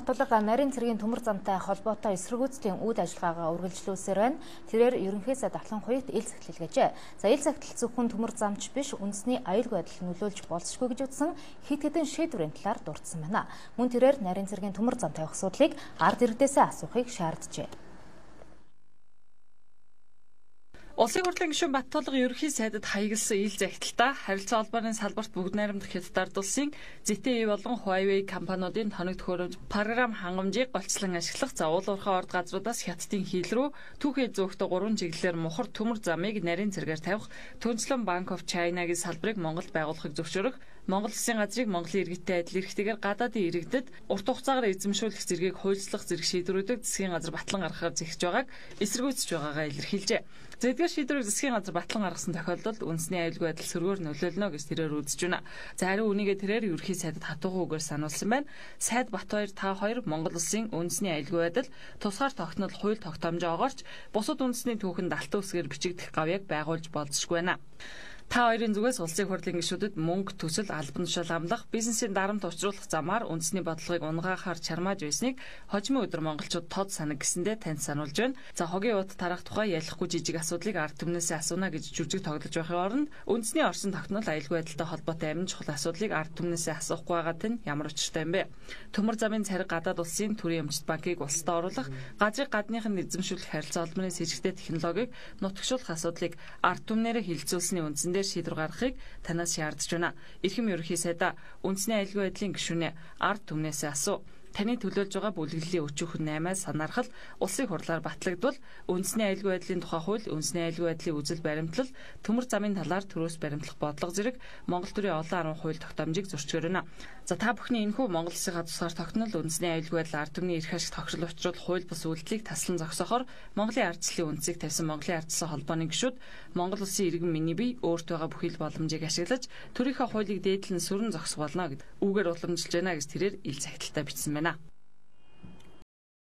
Баттулга нарийн цэргийн төмөр замтай холбоотой эсэргүүцлийн үйл ажиллагаагаа үргэлжлүүлсээр байна. Тэрээр ерөнхий сайд Атлан хуйт ил захидлгээжээ. За ил захидал зөвхөн төмөр замч биш, үндэсний аюулгүй байдал нөлөөлж болзошгүй гэж утсан хэд хэдэн шийдвэрийн талаар дурдсан байна. Мөн тэрээр нарийн цэргийн төмөр замтай асуудлыг ард иргэдээсээ асуухыг шаарджээ. Улсын хурлын гишүүн Баттулга ерөнхий сайдад хаягдсан ил захидалтаа харилцаа холбооны салбарт бүгд найрамдах Хятад улсын ZTE болон Huawei компаниудын тоног төхөөрөмж програм хангамжийг голцлон ашиглах уул уурхай орд газруудаас Хятадын хил рүү түүхий зөөгтэй 3 чиглэлээр мухар төмөр замыг нарийн цэргээр тавих Түнчлэн Bank of China-гийн салбарыг Монголд байгуулахыг зөвшөөрөх Монгол Улсын газрыг Монголын иргэдтэй адил эрхтэйгээр гадаадын иргэдэд урт хугацаагаар эзэмшүүлэх зэргийг хуульчлах зэрэг шийдвэрүүдийг засгийн газар батлан гаргахаар зэгсэж байгааг эсэргүүцэж байгаагаа илэрхийлжээ. Эдгээр шийдвэрийг засгийн газар батлан гаргасан тохиолдолд үндэсний аюулгүй байдал сөргөөр нөлөөлнө гэж тэрээр үзэж байна. За харин үнийгээ тэрээр ерөнхий сайдад хатуухан үгээр сануулсан байна. Сайд Батбаяр та хоёр Монгол Улсын үндэсний аюулгүй байдал тусгаар тогтнол хууль тогтоомжоогоорч бусад үндэсний түүхэнд алтан үсгээр бичигдэх гавьяаг байгуулж болзошгүй байна. Та хоёрын зүгээс улсын хурлын гишүүдэд мөнгө, төсөл, албан тушаал амлах, бизнесийн дарамт учруулах замаар үндэсний бодлогыг унгаахаар чармааж байсныг хожимын өдөр монголчууд тод санаг гэсэндээ танд сануулж байна. За хогийн ут тарах тухай ялахгүй жижиг асуудлыг ард түмнээсээ асууна гэж жүжиг тоглож байхын оронд үндэсний орчин тогтнол аюулгүй байдалтай холбоотой амин чухал асуудлыг ард түмнээсээ асуухгүй байгаад нь ямар учиртай юм бэ? Төмөр замын цариг гадаад улсын төрийн өмчт банкыг улсад оруулах, газрыг гадныханд эзэмшүүлэх харилцаа холбооны с сэжигтэй технологиг нутагшуулах асуудлыг ард түмнээрээ хилцүүлсэний үндсэн шийдвэр гаргахыг танаас шаардж байна. Эрхэм ерөнхий сайдаа үндэсний аюулгүй байдлын гишүүнээ ард түмнээсээ асуу. Таны төлөөлж байгаа бүлэглэлийн өчүүхэн 8-аас санаархал улсын хурлаар батлагдвал үндэсний аюулгүй байдлын тухай хууль, үндэсний аюулгүй байдлын үзэл баримтлал, төмөр замын талаар төрөөс баримтлах бодлого зэрэг Монгол төрийн олон 10 хууль тогтоомжийг зөрчгөр байна. За та бүхний энэхүү Монгол Улсынхаа тусгаар тогтнол үндэсний аюулгүй байдал ард түмний эрх ашиг тогтрол учруулах хууль бус үйлдэлийг таслан зогсоохоор Монголын ардчлалын үндсийг тавьсан Монголын ардчлалын холбооны гишүүд Монгол Улсын иргэн миний бие өөрт байгаа бүхий л боломжийг ашиглаж төрийнхөө хуулийг дээдлэн сүрэн зогсох болно гэд үгээр уламжилж байна гэж тэрээр ил захидалтаа бичсэн байна.